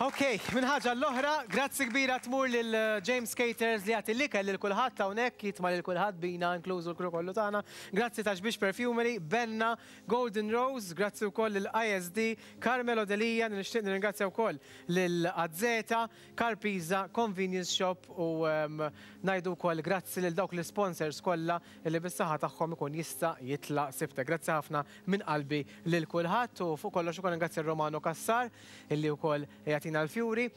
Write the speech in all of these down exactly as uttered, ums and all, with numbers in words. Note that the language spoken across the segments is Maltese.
Ok, minn ħaġa l-oħra, grazzi kbira tmur lil James Caters li jagħti l-ikel lil kulħadd hawnhekk, jitma' lil kulħadd bina inklużu l-crew kollu tagħna. Grazzi ta' Xbiex Perfumery, Benna, Golden Rose, grazzi wkoll lil I S D, Carmelo Delia, nixtieq nirringrazzja wkoll lil Azzeta, Carpisa, Convenience Shop u um, ngħidu wkoll grazzi lil dawk l-sponsors kollha li bis-saħħa tagħhom ikun jista' jitla' Sibtek. Grazzi ħafna minn qalbi lil kulħadd u fuq kollox ukoll ringrazzja Romano Cassar illi wkoll jagħtina l-fjuri.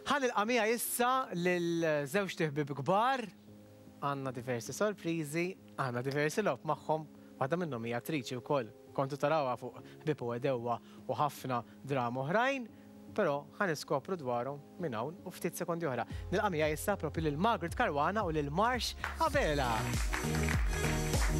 Ħa nilqa' miegħi issa lil żewġt iħbieb kbar, għandna diversi sorprizi, għandna diversi logħob magħhom, waħda minnhom hija attriċi wkoll. Kontu tarawha fuq Ħbieb u Għedewwa u ħafna drama oħrajn, però ħa niskopru dwarhom minn hawn u ftit sekondi oħra. Nilqa' miegħi issa propju lil Margaret Caruana u lil Marsh Abela.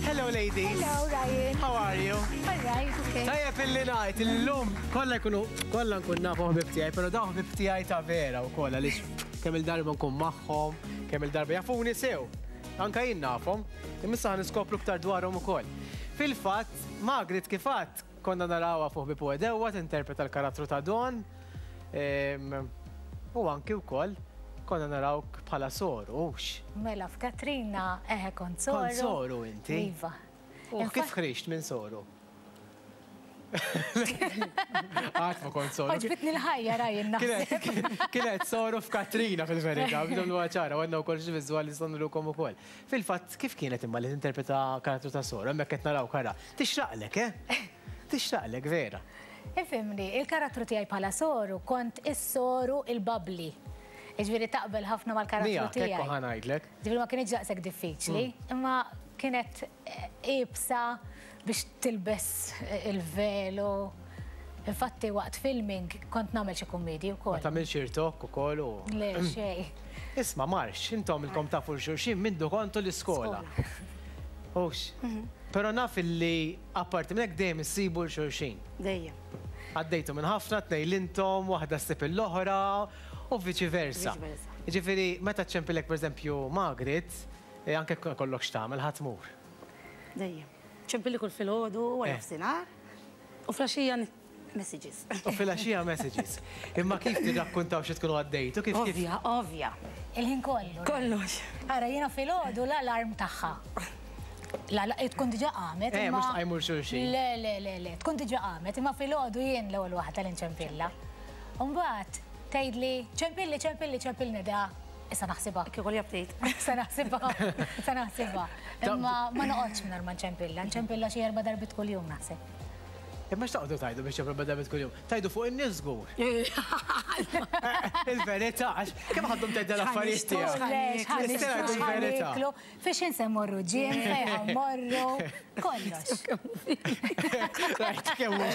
Hello, ladies. Hello, Ryan. How are you? All right, okay. Tajjeb illi ngħid illum kollha jkunu kollha nkun nafu ħbib tiegħi, però dawn ħbib tiegħi ta' vera wkoll għaliex kemm il-darba nkun magħhom, kemm il-darba jafuni sew. Anka jien nafhom, imma issa niskopru iktar dwarhom ukoll. Fil-fatt, Margaret, kif għedt, konna narawha fuq Ħbieb u Għedewwa tinterpreta l-karattru ta' Don. Em, U anki wkoll konna narawk bħala soru, hux? Mela, f'Katrina, eħe, kont soru. Kont soru inti? Iva. U kif ħriġt minn soru? Għad ma kont soru. Għoġbitni l-ħajja, Ryan, naħseb. Kienet kienet soru f'Katrina fil-verità, bidon l ċara, għandna wkoll xi viżwali sonrukom ukoll. Fil-fatt, kif kienet imma li tinterpreta karattru ta' soru, hemmhekk qed naraw kara. Tixraqlek, eh? Tixraqlek vera. Ifhimni, il-karattru tiegħi bħala soru kont is-soru il-bubbly. Ġifieri taqbel ħafna mal-karattru Mija, kekku tiegħi. Ħa ngħidlek. Ġifieri ma kienx daqshekk diffiċli, imma kienet eh, iebsa biex tilbes eh, il-velu. Infatti waqt filming kont nagħmel xi kummedji Ma wkoll. tagħmilx irtokk ukoll u. Le, xejn. Isma' Marx, intom ilkom tafu xulxin mindu kontu l-iskola. Hux. Però naf illi apparti minn hekk dejjem issibu l-xulxin. Dejjem. Għaddejtu minn ħafna, tnejn l-intom, waħda ssib l-oħra u viċi versa. Viċi versa. Ġifieri, meta ċempilek per eżempju Margaret, eh, anke kollok x'tagħmel ħa tmur. Dejjem. Ċempilli kull filgħodu u Eh. nofsinhar. U filgħaxija messages. U filgħaxija messages. Imma kif tirrakkuntaw xi tkunu għaddejtu? Kif kif? Ovvja, ovvja. Il-ħin kollu. Kollox. Ara, jiena filgħodu l-alarm tagħha. La, la, tkun diġà qamet. Eh, imma- mhux tqajmu xulxin. Le, le, le, le, tkun diġà qamet, imma filgħodu jien l-ewwel waħda li nċempilla. Mbagħad tgħidli: "Ċempilli, ċempilli, ċempilli da." Issa naħsibha. Kieku li update. Issa naħsibha, issa naħsibha. Imma ma noqgħodx mingħajr ma nċempilla, nċempilla xi erba' darbit kuljum naħseb. Imma x'taqgħodu tgħidu biex ċempel bada kuljum? Tgħidu fuq in-nies żgur. Il-verità, għax kemm ħaddhom tgħid l-affarijiet tiegħek? Le, x'ħan Nistgħu ngħidu l-verità. niklu, fiex inse morru gym, fejn morru, kollox. Rajt kemm hu.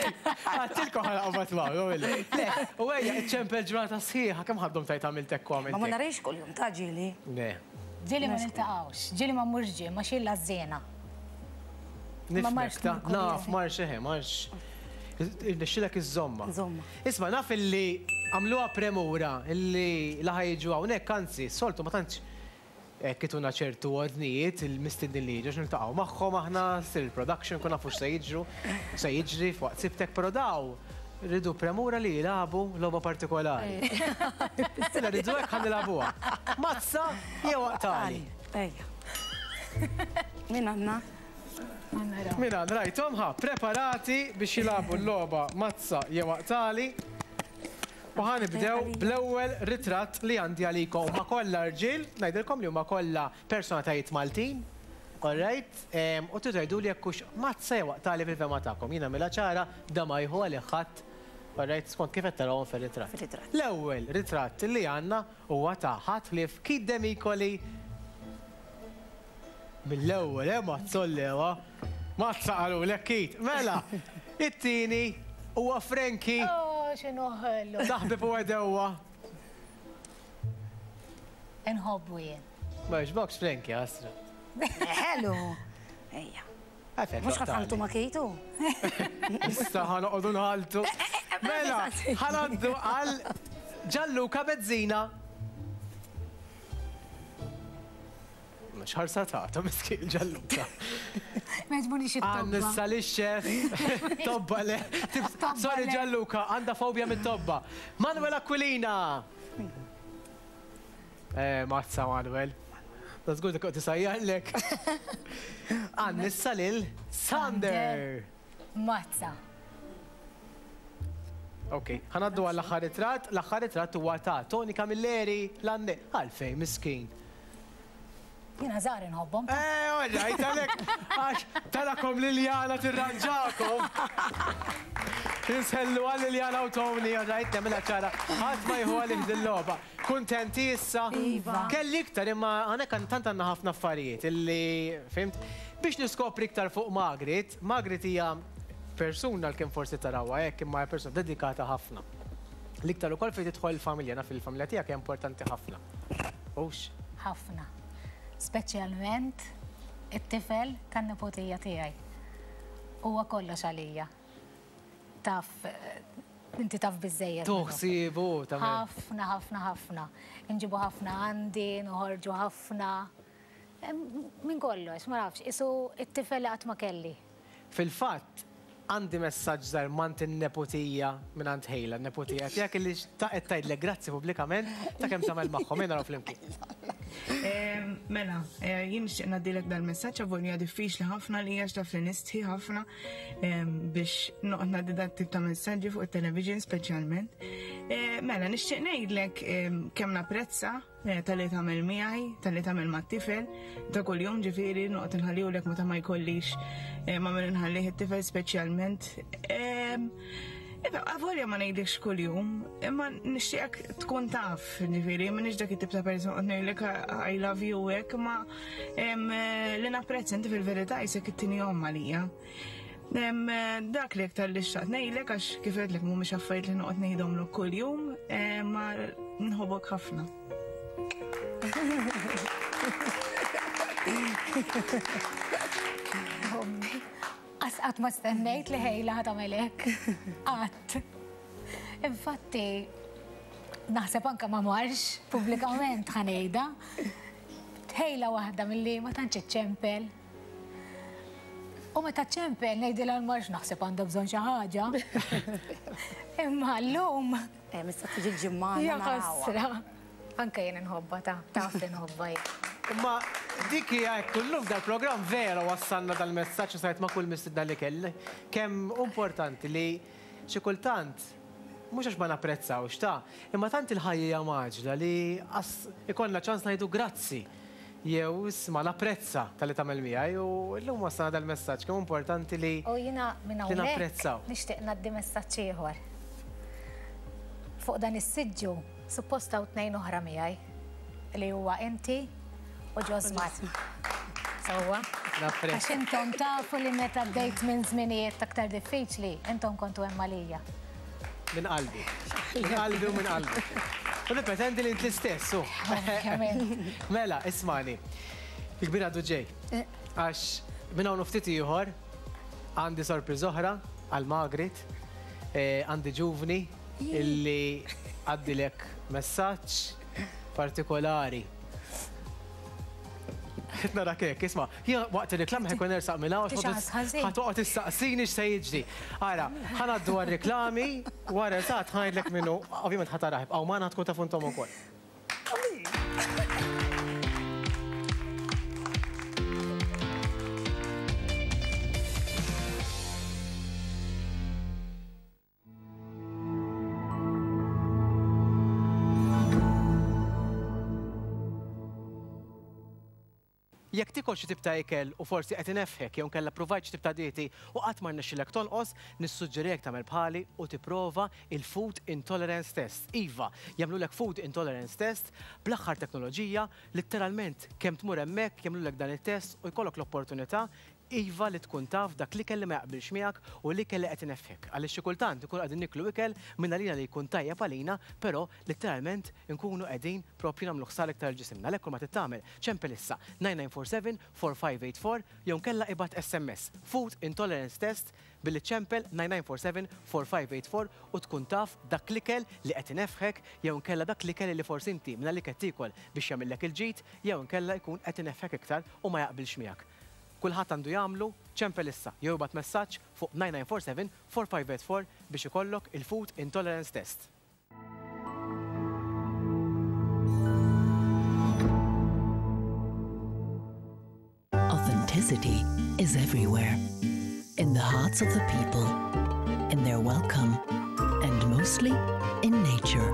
Għedtilkom ħa naqbad magħhom, Le, u ejja, iċċempel ġurnata sħiħa, kemm ħaddhom tajt għamiltek u Ma ma għamiltek? narix kuljum ta' ġieli. Le. Ġieli ma niltaqgħux, ġieli ma mmurx gym, ma xilla żena. Ma marx Nifmek ta' kull naf, jum. marx eħe, marx. Irnexxilek iż-żomma. Żomma. Isma', naf illi għamluha premura illi laħa jiġu hawnhekk, anzi, soltu ma tantx hekk ituna ċertu ordnijiet il-mistednin li jiġu niltaqgħu magħhom aħna, sir il-production, kun nafu x'se jiġru, se jiġri f'waqt Sibtek, però daw rridu premura li jilagħbu logħba partikolari. Illa rridu hekk ħa nilagħbuha. Mazza jew aqtagħli. Ejja. Min għandna? Mina, rajtom ħa, preparati biex jilagħbu l-logħba mazza jew aqtagħli. U ħa nibdew bl-ewwel ritratt li għandi għalikom. Huma kollha rġiel, ngħidilkom li huma kollha personalitajiet Maltin. Alright, u tgħidu li jekk hux mazza jew aqtagħli fil-fehma tagħkom. Jiena mela ċara da ma jieħu għalih ħadd. Alright, skont kif qed tarawhom fir-ritratt. Fir-ritratt. L-ewwel ritratt li għandna huwa ta' ħadd ħlief Keith Demicoli. Mill-ewwel, eh, mazzollewa. Mazza qalu lek Keith. Mela, it-tieni huwa Frankie. Oh, x'inhu ħelu. Ta' Ħbieb u Għedewwa. Inħobbu jien. Ma jogħġbokx Frankie, għasra? Ħelu. Ejja. Għafet, Mhux ħa tħalltu ma' Keith. Issa ħa noqogħdu nħalltu. Mela, ħa ngħaddu għal Gianluca Bezzina. Xħarsa ta' miskin Gianluca. Ma jġbunix it-tobba. Għannissa li xef. Tobba le. Sorry Gianluca, għanda fobja mit-tobba. Manuel Aquilina. Eh, mazza Manuel. Da żgur dik tisajjarlek. Għannissa lil Sander. Mazza. Ok, ħanaddu għall-aħħar ritratt, l-aħħar ritratt huwa ta' Tony Camilleri l-għanne. Għalfejn, miskin. Jiena żgħar inħobbhom. Eh, all right, għalek, għax tarakom Liliana tirranġakom. Insellu għal Liliana u Tony, all right, nagħmilha ċara. Ħadd ma jieħu għalih dil-logħba. Kuntenti issa? Iva. Kelli iktar imma għanek tant għandna ħafna affarijiet illi, fimt, biex niskopri iktar fuq Margaret, Margaret hija persuna l-kem forsi tarawha hekk imma hija persuna dedikata ħafna. L-iktar ukoll fejn tidħol il-familja, naf il-familja tiegħek hija importanti ħafna. Hux? Ħafna. Speċjalment it-tifel tan-nepotija tiegħi. Huwa kollox għalija. Taf, inti taf biżżejjed. Toħsibu, tagħmel. Ħafna, ħafna, ħafna. Inġibu ħafna għandi, noħorġu ħafna. Min kollox, ma nafx, isu it-tifel li qatt ma kelli. Fil-fatt, għandi messaġġ żgħar mant in-nepotija minn għand Ħejla, n-nepotija tiegħek illi qed tgħidlek grazzi pubblikament ta' kemm tagħmel magħhom, ejja naraw flimkien. Mela, jien nixtieq ngħaddilek dal-messaġġ avolja diffiċli ħafna li għax taf li nistħi ħafna biex noqgħod ngħaddi dat tip ta' messaġġi fuq it-television speċjalment. Mela, nixtieq ngħidlek kemm napprezza tal-li tagħmel miegħi, tal-li tagħmel mat-tifel, ta' kuljum ġifieri noqgħod inħallihulek meta ma jkollix ma minn inħallih it-tifel speċjalment. Iva, avolja ma ngħidlekx kuljum, imma nixtieqek tkun taf, ġifieri, m'iniex dak it-tip ta' persuna qed ngħidlek I love you hekk, imma li napprezza inti fil-verità isek it-tieni omm għalija. Dak li aktar li xtaqt ngħidlek għax kif għedtlek mhumiex affarijiet li noqgħod ngħidhomlok kuljum, ma nħobbok ħafna. Qatt ma stennejt li Ħejla ħa tagħmel hekk. Qatt. Infatti, naħseb anke ma marx pubblikament ħa ngħidha. Ħejla waħda milli ma tantx iċċempel. U meta ċċempel ngħidilha l-marx naħseb għandha bżonn xi ħaġa. Imma llum. Eh, mista tiġi l-ġimgħa. Ja ħasra. Anke jien inħobbha ta' taf li nħobbha jien. Imma dik hija hekk kullum dal-programm vera wassalna dal-messaġġ u sajt ma' kull mistidna li kelli. Kemm importanti li xi kultant mhux għax ma napprezzawx ta' imma tant il-ħajja hija maġla li ikollna ċans ngħidu grazzi jew isma' napprezza tal-li tagħmel miegħi u llum wassalna dal-messaġġ kemm importanti li U jiena minn hawnhekk nixtieq ngħaddi messaġġ ieħor. Fuq dan is-siġġu suppost hawn tnejn oħra miegħi li huwa inti u Ġosmar. Sewwa. Għax intom tafu li meta bdejt minn żminijiet aktar diffiċli, intom kontu hemm għalija. Minn qalbi. Minn qalbi u minn qalbi. U nippretendi li int l-istess, u. Mela, ismani. Il-kbir għadu ġej. Għax minn hawn ftit ieħor għandi sorpriż oħra għal Margaret, għandi ġuvni illi għaddilek messaġġ partikolari. Nara kek, isma, jien waqt il-reklam ħekun nersaq minn hawn, ħatoqgħod tistaqsini x'se jiġri. Ara, ħanaddu għar-reklami, wara eżatt ħajdlek minnu, ovvjament ħa taraħ, ibqgħu magħna tkun tafu intom ukoll. Jekk tikol xi tip ta' ikel u forsi qed inefħek jew inkella provajt xi tip ta' dieti u qatt ma rnexxilek tonqos, nissuġġerijek tagħmel bħali u tipprova il-Food Intolerance Test. Iva, jagħmlulek Food Intolerance Test bl-aħħar teknoloġija, letteralment kemm tmur hemmhekk jagħmlulek dan it-test u jkollok l-opportunità Iva li tkun taf dak l-ikel li ma jaqbilx miegħek u l-ikel li qed ineffek. Għaliex xi kultant ikun qegħdin niklu ikel minn għalina li jkun tajjeb għalina, però letteralment nkunu qegħdin propju nagħmlu ħsara iktar ġisimna. Għalhekk kull ma tittamel ċempel issa nine nine four seven four five eight four jew nkella ibgħat S M S Food Intolerance Test billi ċempel nine nine four seven four five eight four u tkun taf dak l-ikel li qed inefħek jew nkella dak l-ikel li forsi inti minn għalik qed tiekol biex jagħmillek il-ġid jew nkella jkun qed inefħek iktar u ma jaqbilx miegħek. Kulħadd għandu jagħmlu ċempel issa jew ibgħat messaġġ fuq nine nine four seven four five eight four biex ikollok il-Food Intolerance Test. Authenticity is everywhere. In the hearts of the people, in their welcome, and mostly in nature.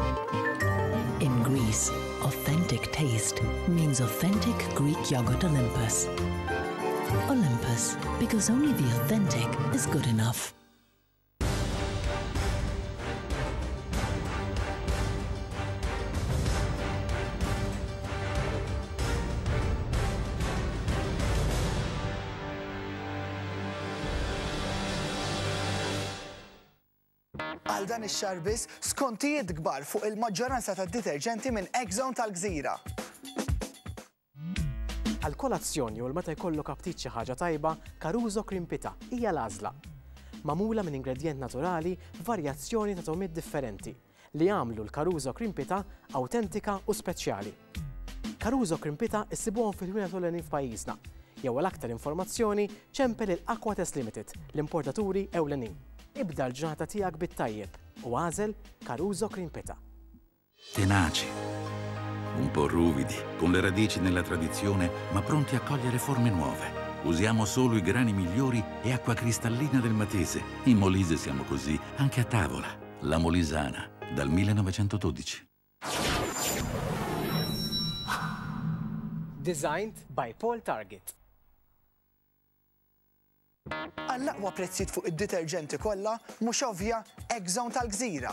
In Greece, authentic taste means authentic Greek yogurt Olympus. Olympus, because only the authentic is good enough. Għal dan ix-xahar biss skontijiet kbar fuq il-maġġoranza tad-deterġenti minn Exxon tal-Gżira. Għal kolazzjoni u l-meta jkollok aptit xi ħaġa tajba, Caruso Cream Pita hija l-għażla. Magħmula minn ingredjent naturali b'varjazzjoni ta' togħmiet differenti li jagħmlu l-Caruso Cream Pita awtentika u speċjali. Caruso Cream Pita issibuhom fil-ħwienet ewlenin f'pajjiżna. Jew għal aktar informazzjoni ċempel il-Aquatest Limited, l-importaturi ewlenin. Ibda l-ġurnata tiegħek bit-tajjeb u għażel Caruso Cream Pita. Tenaci, un po' ruvidi, con le radici nella tradizione, ma pronti a cogliere forme nuove. Usiamo solo i grani migliori e acqua cristallina del Matese. In Molise siamo così, anche a tavola. La Molisana, dal millenovecentododici. Designed by Paul Target. Għall-aqwa prezzijiet fuq id-deterġenti kollha mhux ovvja Exxon tal-Gżira.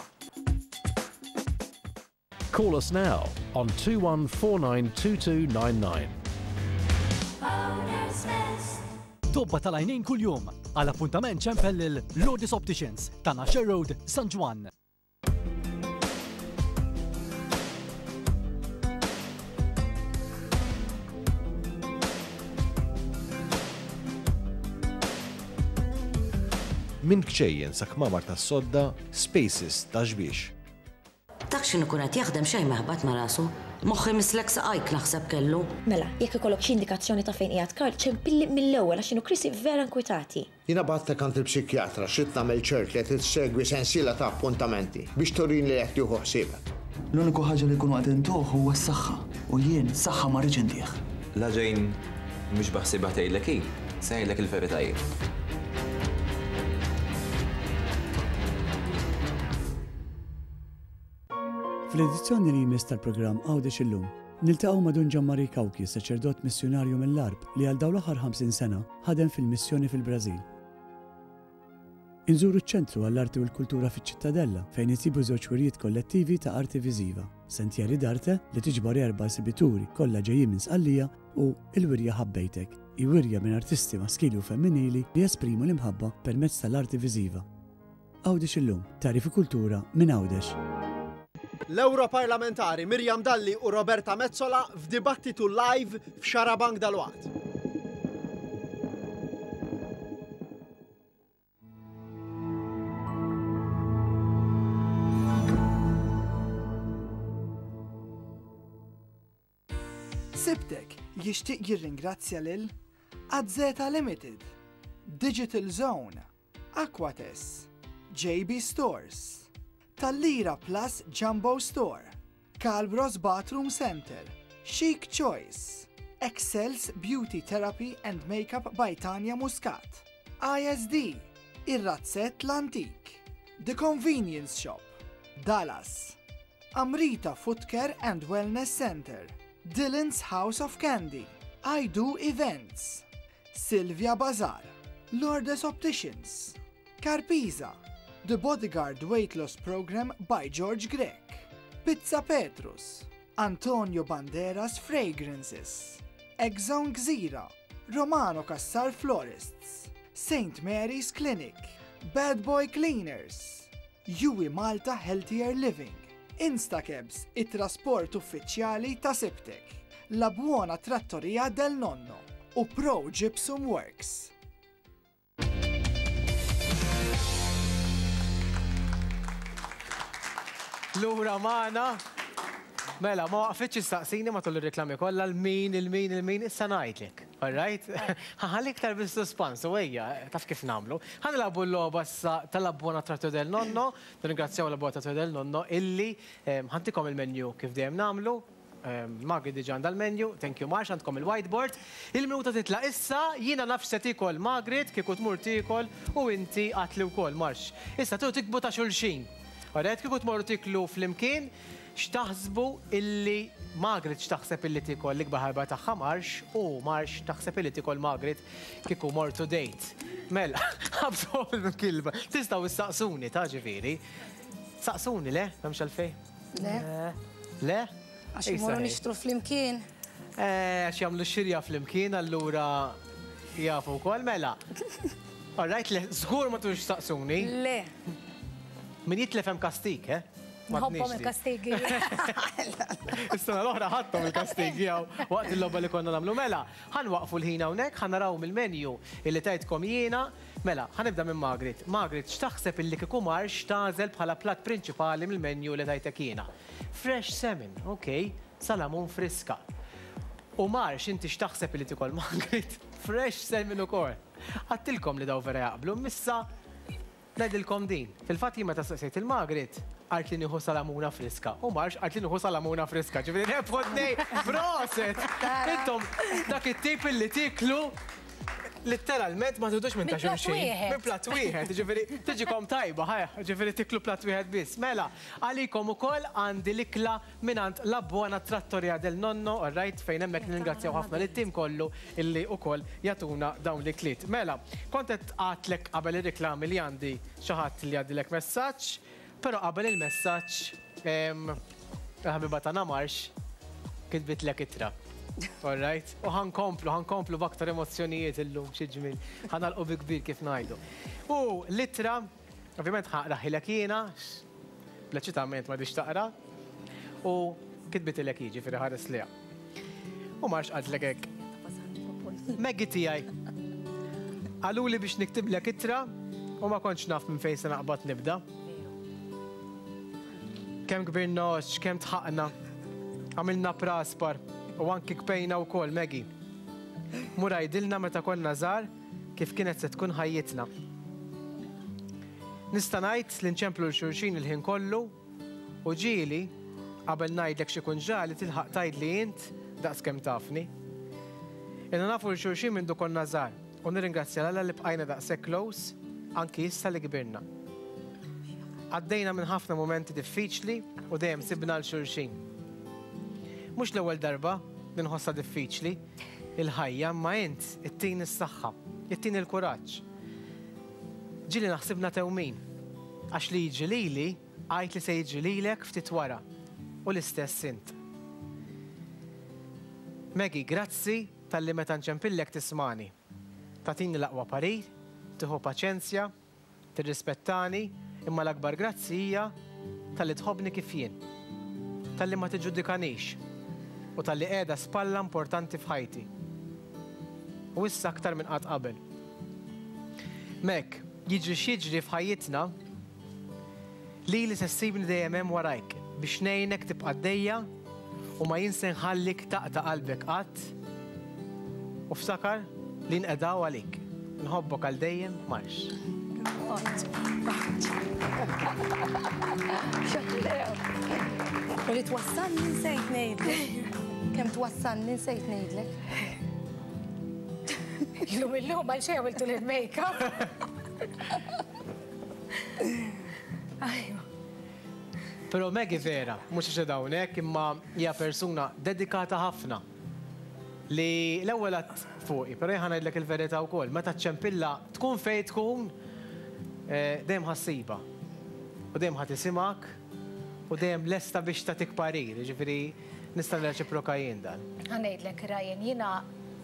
Call us now on two one four nine two two nine nine. Tobba tal-għajnejn kuljum għal appuntament ċempel lil Lourdes Opticians ta' Nasher Road, San Ġwann. Minn kċejjen sa kmamar tas-sodda, Spaces ta' xbiex. Dak x'inhu kun qed jaħdem xejn meħbad ma' rasu. Moħħi mislek saqajk naħseb kellu. Mela, jekk ikollok xi indikazzjoni ta' fejn qiegħed Karl, ċempilli mill-ewwel għax inhu Chrissy vera nkwitati. Jiena bagħtek għand il-psikjatra xi tagħmel ċert li qed issegwi sensiela ta' appuntamenti biex turini li qed tieħu ħsiebek. L-uniku ħaġa li jkunu qed intuh huwa s-saħħa u jien saħħa ma rridx intih. La ġejn mhux baħsibha tgħidlek hi, se ngħidlek il-veritajiet. Fl-edizzjoni li jmiss tal-programm Għawdex Illum, niltaqgħu ma' Dun Ġammari Cauchi, saċerdot missjunarju mill-Għarb li għal dawn l-aħħar ħamsin sena ħadem fil-missjoni fil-Brażil. Inżuru ċ-ċentru għall-arti u l-kultura fiċ-Ċittadella fejn insibu żewġ wirjiet kollettivi ta' arti viżiva, Sentieri d'Arte li tiġbor erba' esibituri kollha ġejjin minn Sqallija u il-wirja Ħabbejtek, hi wirja minn artisti maskili u femminili li jesprimu l-imħabba permezz tal-arti viżiva. Għawdex Illum, tagħrif u kultura minn Għawdex. L-Europarlamentari Miriam Dalli u Roberta Metsola f'dibattitu live f'Xarabank dalwaqt. Sibtek jixtieq jirringrazzja lil Azzeta Limited, Digital Zone, Aquates, J B Stores, Tal-Lira Plus Jumbo Store, Calbros Bathroom Center, Chic Choice, Excels Beauty Therapy and Makeup by Tanya Muscat, I S D, Ir-Razzett L-Antik, The Convenience Shop, Dallas, Amrita Footcare and Wellness Center, Dylan's House of Candy, I Do Events, Sylvia Bazaar, Lourdes Opticians, Carpisa, The Bodyguard Weight Loss Program by George Grech, Pizza Petrus, Antonio Banderas Fragrances, Exxon Gżira, Romano Cassar Florists, Saint Mary's Clinic, Bad Boy Cleaners, Juwi Malta Healthier Living, Instacabs, it-trasport uffiċjali ta' Sibtek, La Buona Trattoria del Nonno u Pro Gypsum Works. Lura magħna. Mela, ma waqfitx issaqsini matul ir-reklami kollha l-min, il-min, il-min, issa ngħidlek. All right? Ħalli iktar bis-suspans, u ejja, taf kif nagħmlu. Ħa nilagħbu l-logħba issa tal-La Buona Trattoria del Nonno, nirringrazzjaw La Buona Trattoria del Nonno illi ħantikom il-menu kif dejjem nagħmlu. Margaret diġà għandha l-menu, thank you Marx, għandkom il-whiteboard. Il-minuta titla' issa, jiena naf se tiekol Margaret, kieku tmur tiekol u inti għatli wkoll Marx. Issa tu tikbu ta' xulxin. Alright, kieku tmorru tiklu flimkien, x'taħsbu illi Margaret x'taħseb illi tiekol l-ikbar ħarba tagħha Marx u Marx taħseb illi tiekol Margaret kieku mortu date. Mela, ħabsu il-kilba. Tistgħu issaqsuni ta' ġifieri. Saqsuni le, m'hemmx għalfejn? Le. Le? Għax imorru nixtru flimkien. Għax jagħmlu xirja flimkien, allura jafu wkoll mela. All right, le, żgur ma tux saqsuni. Le. Min jitlef hemm kastik, eh? Nħobbhom il-kastigi. Is-sena l-oħra ħadthom il-kastigi hawn waqt il-logħba li konna nagħmlu. Mela, ħanwaqfu l-ħin hawnhekk, ħanaraw mill-menu illi tajtkom jiena. Mela, ħanibda minn Margaret. Margaret, x'taħseb illi kieku Marx tagħżel bħala platt prinċipali mill-menu li tajtek jiena? Fresh salmon, ok, salamun friska. U Marx, inti x'taħseb illi tikol Margaret? Fresh salmon ukoll. Għattilkom li daw vera jaqblu, missa ngħidilkom din. Fil-fatt jien meta staqsejt il-Margaret, qalt li nieħu salamuna friska. U Marx qalt li nieħu salamuna friska. Ġifieri rebħu tnejn, proset! Intom dak it-tip illi tiklu letteralment ma tidux minn ta' xulxin. Minn platt wieħed, ġifieri tiġikom tajba, ħaj, ġifieri tiklu platt wieħed biss. Mela, għalikom ukoll għandi l-ikla mingħand La Buona Trattoria del Nonno, all right, fejn hemmhekk nirringrazzjaw ħafna lit-tim kollu illi ukoll jagħtuna dawn l-ikliet. Mela, kont qed għadtlek qabel ir-reklami li għandi xi ħadd li għaddilek messaġġ, però qabel il-messaġġ il-ħabiba tagħna Marx kitbitlek ittra. All right, u ħankomplu, ħankomplu b'aktar emozzjonijiet illum xi ġmiel. Ħanalqu bi kbir kif ngħidu. U l-ittra, ovvjament ħaqraħilek jiena, bleċitament ma dix taqra, u kitbitilek jiġifieri ħares liha. U Marx qaltlek hekk. Maggie tiegħi. Qaluli biex niktiblek ittra u ma kontx naf minn fejn se naqbad nibda. Kemm kbirna, kemm tħaqna, għamilna praspar. U anki kpejna wkoll, Maggie. Mur għidilna meta konna żgħar kif kienet se tkun ħajjitna. Nista' ngħid li nċemplu l xulxin il-ħin kollu u ġieli qabel ngħidlek xi kun ġali tilħaq tgħidli int daqs kemm tafni. Ilna nafu l xulxin minn du konna żgħar u nirringrazzja 'l Alla li bqajna daqshekk close anki issa li kbirna. Għaddejna minn ħafna momenti diffiċli u dejjem sibna l xulxin. Mhux l-ewwel darba li nħossha diffiċli il-ħajja, imma int ittini s-saħħa, ittini l-kuraġġ. Ġieli naħsibna tewmin, għax li jiġri lili għajt li se jiġri lilek ftit wara u l-istess int. Maggie, grazzi talli meta nċempillek tismani. Tagħtini l-aqwa parir, tieħu paċenzja, tirrispettani, imma l-akbar grazzi hija talli tħobbni kif jien, talli ma tiġġudikanix u talli qiegħda spalla importanti f'ħajti. U issa aktar minn qatt qabel. Mek, jiġri x'jiġri f'ħajjitna, lili se ssibni dejjem hemm warajk biex ngħinek tibqa' għaddejja u ma jien se nħallik taqta' qalbek qatt. U ftakar li nqedaw għalik. Nħobbok għal dejjem, Marx. U li twassalni nsejt ngħidlek. Kemm twassalni nsejt ngħidlek. Illum illum għal xejn għamiltu l-makeup. Però Maggie vera, mhux għax hawnhekk, imma hija persuna dedikata ħafna. Li l-ewwel għadd fuqi, però jien ngħidlek il-verità wkoll, meta ċempilla tkun fejn tkun, dejjem ħassiba. U dejjem ħadd isimak u dejjem lesta biex tagħtik parir, jiġifieri nista' nirreċiproka jien dan. Ħa ngħidlek Ryan, jiena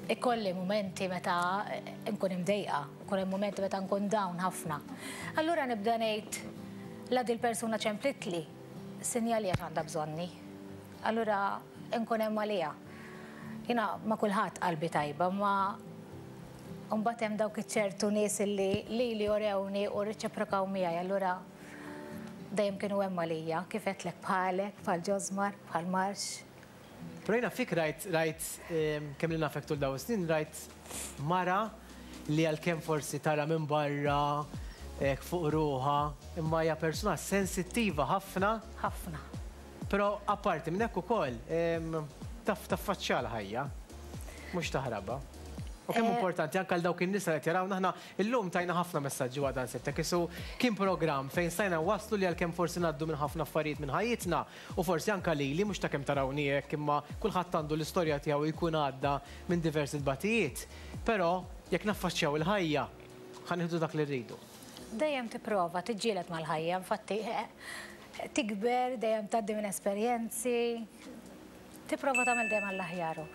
Ikolli mumenti meta nkun imdejqa, ikun hemm mumenti meta nkun down ħafna. Allura nibda ngħid la dil-persuna ċemplitli, sinjali għax għandha bżonni. Allura nkun hemm għaliha. Jiena ma kulħadd qalbi tajba, ma mbagħad hemm dawk iċ-ċertu nies li lili orewni u rreċiprokaw miegħi, allura dejjem kienu hemm għalija, kif għedtlek bħalek, bħal Ġosmar, bħal Marx. Però jiena fik rajt, rajt kemm li nafek tul dawn is-snin, rajt mara li għalkemm forsi tara minn barra fuq ruħha, imma hija persuna sensittiva ħafna. Ħafna. Però apparti minn hekk ukoll taf taffaċċja l-ħajja, mhux taħrabha. U kemm importanti anke għal dawk in-nies li qed jarawna aħna illum tajna ħafna messaġġi waqt dan Sibtek. Isu kien programm fejn stajna waslu li għalkemm forsi ngħaddu minn ħafna affarijiet minn ħajjitna u forsi anke lili mhux ta' kemm tarawni hekk imma kulħadd għandu l-istorja tiegħu jkun għadda minn diversi tbatijiet. Però jekk naffaċċjaw il-ħajja ħa nieħdu dak li rridu. Dejjem tipprova tiġġieled mal-ħajja, infatti tikber, dejjem tgħaddi minn esperjenzi, tipprova tagħmel dejjem għall-aħjar.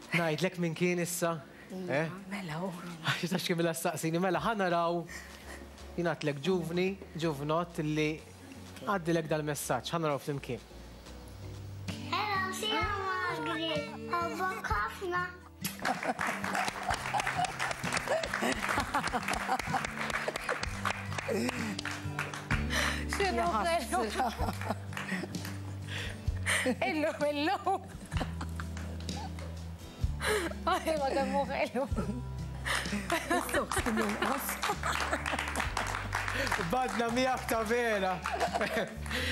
Ngħidlek minn kien issa? Mela hu. Għax tax kien mela staqsini, mela ħa naraw jingħatlek ġuvni, ġuvnott li għaddilek dal-messaġġ, ħa naraw flimkien. Hello, sija Margaret, ħobbok ħafna. X'inhu ħelu? Illum, illum. Ay, ma kemm hu ħelu. Badna miegħek ta' vera.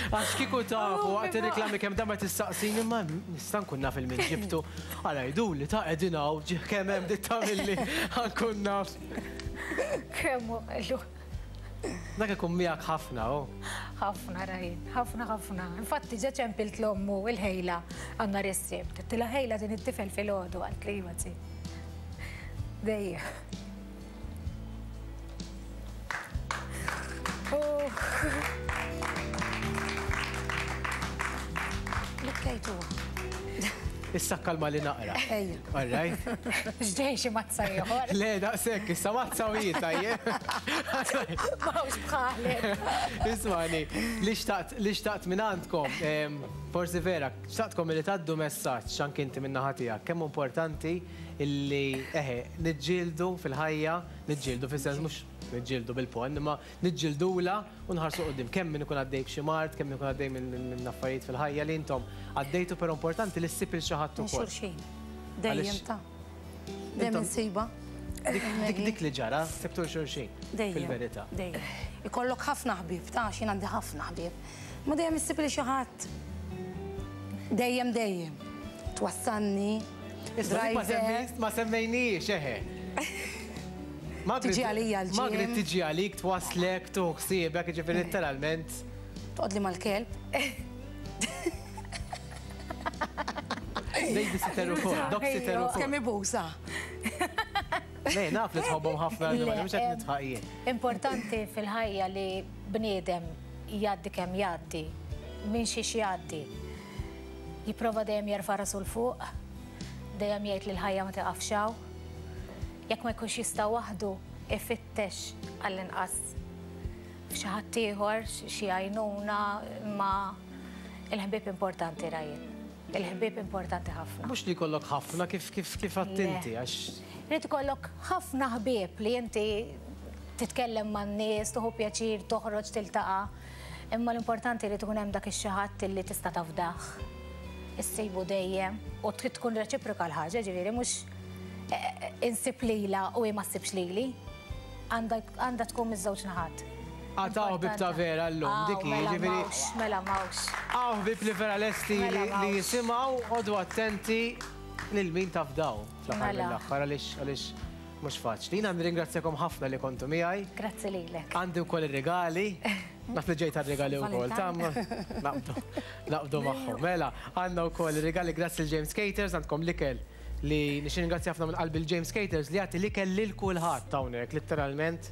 Għax kieku tafu waqt ir-reklami kemm darba tistaqsini ma nista' nkun naf il-min ġibtu. Ara jgħiduli ta' qegħdin hawn kemm hemm dit tagħmilli ħankun naf. Kemm hu ħelu. Dak ikun miegħek ħafna, oh. Ħafna Ryan, ħafna ħafna. Infatti ġa ċempilt l-ommu il-ħejla għandna is-Sibt. Għedtilha ħejla din it-tifel filgħodu għalt li iva zi. Dejjem. Bikkejtu. Issa kalma li naqra. Ejja. All right. X'ġej xi mazza ieħor. Le, daqshekk, issa mazza u jien tajjeb. M'hawnx bħalek. Ismani, li xtaqt li xtaqt minn għandkom, forsi vera, xtaqtkom li tgħaddu messaġġ anke inti minn naħa tiegħek, kemm importanti illi eħe niġġieldu fil-ħajja, niġġieldu fis-sens mhux niġġieldu bil-pon, imma niġġieldula u nħarsu quddiem kemm min ikun għaddej b'xi mard, kemm ikun għaddej minn affarijiet fil-ħajja li intom għaddejtu, però importanti li ssib il xi ħadd ukoll. Xulxin. Dejjem ta' dejjem insiba. Dik dik li ġara, sibtu xulxin. Fil-verità. Dejjem. Ikollok ħafna ħbieb, ta' xi għandi ħafna ħbieb. Ma dejjem issib li xi ħadd. Dejjem dejjem. Twassalni. Ma semmejniex eħe. Tiġi għalija l-ġim. Margaret tiġi għalik, twaslek, tuħsibek, ġifieri letteralment. Toqgħodli mal-kelb. Babysitter ukoll, dog-sitter ukoll. Kemm ibusa. Le, naf li tħobbhom ħafna l-animali, mhux qed nitħaq jien. Importanti fil-ħajja li bniedem jgħaddi kemm jgħaddi, minn xiex jgħaddi. Jipprova dejjem jerfa' rasu 'l fuq, dejjem jgħid li l-ħajja ma tiqafx hawn. Jekk ma jkunx jista' waħdu, ifittex għall-inqas f'xi ħadd ieħor, xi għajnuna, imma il-ħbieb importanti Ryan. Il-ħbieb importanti ħafna. Mhux li jkollok ħafna kif kif kif għadt inti għax. Irid ikollok ħafna ħbieb li inti titkellem man-nies, tieħu pjaċir, toħroġ, tiltaqa'. Imma l-importanti li tkun hemm dak ix-xi ħadd li tista' tafdah. Issibu dejjem u trid tkun reċiproka l-ħaġa, ġifieri mhux insib lila u ma ssibx lili. Għandha tkun miż-żewġ naħat. Għataw ħbieb ta' vera llum, dik hi, ġifieri. Mela m'hawnx. Hawn ħbieb li vera lesti li jisimgħu, għodu attenti lil min tafdaw fl-aħħar mill-aħħar għaliex għaliex mhux faċli. Jiena nirringrazzjakom ħafna li kontu miegħi. Grazzi lilek. Għandi wkoll ir-rigali. Naf li ġejt għar-rigali wkoll, ta' naqbdu naqbdu magħhom. Mela, għandna wkoll ir-rigali grazzi lil James Caters, għandkom l-ikel li nixtieq ringrazzja ħafna minn qalbi l-James Caters li jagħti l-ikel lil kulħadd hawnhekk letteralment.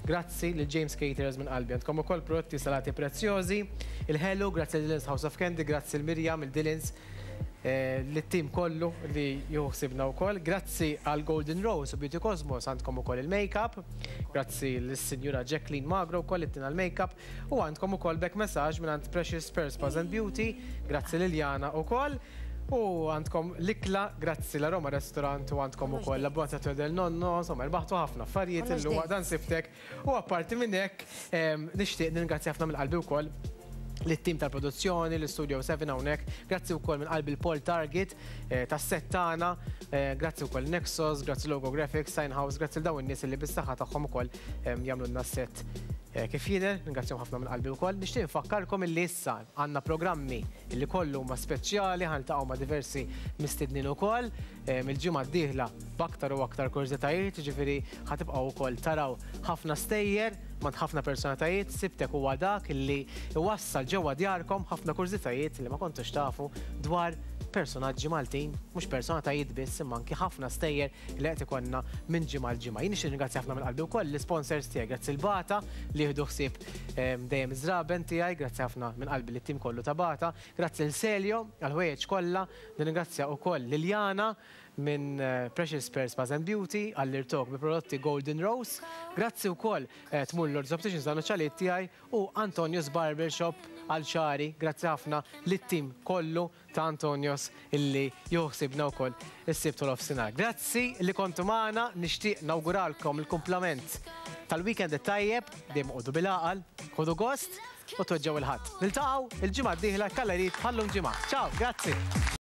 Grazzi lil James Caters minn qalbi. Għandkom ukoll prodotti salati prezzjożi, il-ħelu, grazzi lil Dylan's House of Candy, grazzi l Mirjam, il Dylan's. Lit-tim kollu li jieħu ħsiebna wkoll. Grazzi għal Golden Rose u Beauty Cosmos, għandkom ukoll il-makeup. Grazzi lis-Sinjura Jacqueline Magro wkoll li ttina l-makeup u għandkom ukoll back massage minn għand Precious Pearls Spas and Beauty. Grazzi Liliana ukoll. U għandkom l-ikla, grazzi la Roma Restaurant, u għandkom ukoll la Buona del Nonno, insomma, rbaħtu ħafna affarijiet illum dan sibtek. U apparti minn hekk, nixtieq ningrazzja ħafna mill-qalbi wkoll lit-tim tal-produzzjoni, l-Studio seba hawnhekk, grazzi wkoll minn qalbi l-Paul Target tas-set tagħna, grazzi wkoll Nexus, grazzi Logo Graphics, Sign House, grazzi l dawn in-nies li bis-saħħa tagħhom ukoll jagħmlulna s-set kif jidher, ningrazzjahom ħafna minn qalbi wkoll. Nixtieq nfakkarkom illi issa għandna programmi illi kollu huma speċjali, ħa niltaqgħu ma' diversi mistednin ukoll mill-ġimgħa d-dieħla b'aktar u aktar kurżitajiet, jiġifieri ħa tibqgħu wkoll taraw ħafna stejjer ma' ħafna personalitajiet. Sibtek huwa dak illi iwassal ġewwa djarkom ħafna kurżitajiet li ma kontux tafu dwar personaġġi Maltin, mhux personalitajiet biss, imma anki ħafna stejjer li qed ikollna minn ġimgħa l ġimgħa. Jien nixtieq ningrazzja ħafna minn qalbi wkoll l-isponsors tiegħi, grazzi l-Bata li jieħdu ħsieb dejjem iż-żraben tiegħi, grazzi ħafna minn qalbi lit-tim kollu ta' Bata, grazzi l Selio għall-ħwejjeġ kollha, nirringrazzja wkoll Liliana minn Precious Pearls Spas and Beauty għall-irtok bi prodotti Golden Rose. Grazzi wkoll tmur Lords Opticians għal ċaliet tiegħi u Antonius Barbershop għal xagħri. Grazzi ħafna lit-tim kollu ta' Antonius illi jieħu ħsiebna wkoll is-Sibt u l-offsinar. Grazzi li kontu magħna, nixtieq nawguralkom il-kumplament tal-weekend it-tajjeb, dejjem oqogħdu bil-għaqal, ħudu gost u tweġġgħu il-ħadd. Niltaqgħu il-ġimgħa d-dieħla kallerit bħallum ġimgħa. Ciao, grazzi.